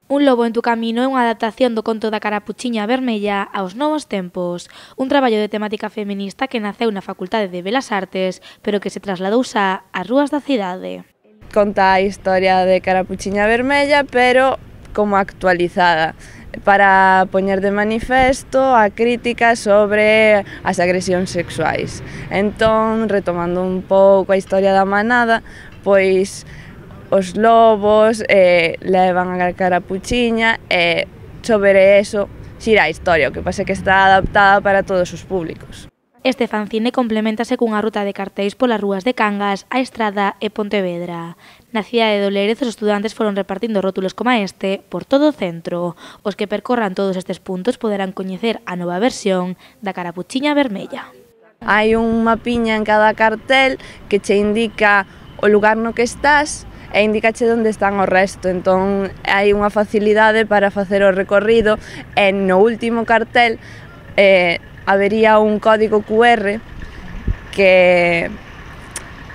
Un lobo en tu camino é unha adaptación do conto da Carapuchiña Vermella aos novos tempos, un traballo de temática feminista que naceu na Facultade de Belas Artes, pero que se trasladou xa ás rúas da cidade. Conta a historia de Carapuchiña Vermella, pero como actualizada, para poñer de manifesto a crítica sobre as agresións sexuais. Entón, retomando un pouco a historia da manada, pois os lobos levan a Carapuchiña e sobre eso xira a historia, o que pasa é que está adaptada para todos os públicos. Este fanzine complementase cunha ruta de cartéis polas rúas de Cangas, A Estrada e Pontevedra. Na cidade de Lérez, os estudantes foron repartindo rótulos como este por todo o centro. Os que percorran todos estes puntos poderán coñecer a nova versión da Carapuchiña Vermella. Hai un mapiña en cada cartel que che indica o lugar no que estás e indicache onde están o resto, entón hai unha facilidade para facer o recorrido e no último cartel habería un código QR que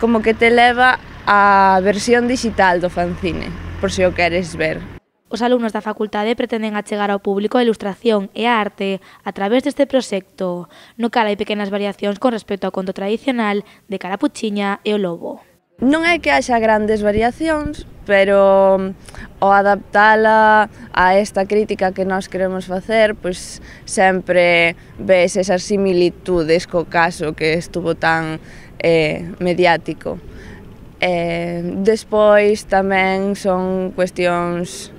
como que te leva á versión digital do fanzine, por se o queres ver. Os alumnos da facultade pretenden achegar ao público a ilustración e a arte a través deste proxecto, no cal hai pequenas variacións con respecto ao conto tradicional de Carapuchiña e o lobo. Non é que haxa grandes variacións, pero ao adaptala a esta crítica que nós queremos facer, pois sempre ves esas similitudes co caso que estuvo tan mediático. Despois tamén son cuestións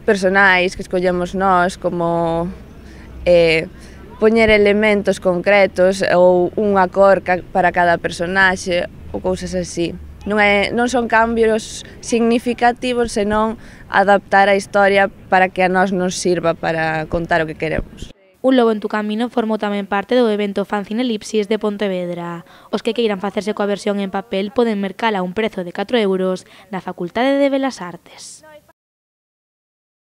personais que escollemos nós, como poñer elementos concretos ou unha cor para cada personaxe ou cousas así. Non son cambios significativos, senón adaptar a historia para que a nós nos sirva para contar o que queremos. Un lobo en tu camino formou tamén parte do evento Fanzine Elipsis de Pontevedra. Os que queiran facerse coa versión en papel poden mercala a un prezo de 4 € na Facultade de Belas Artes.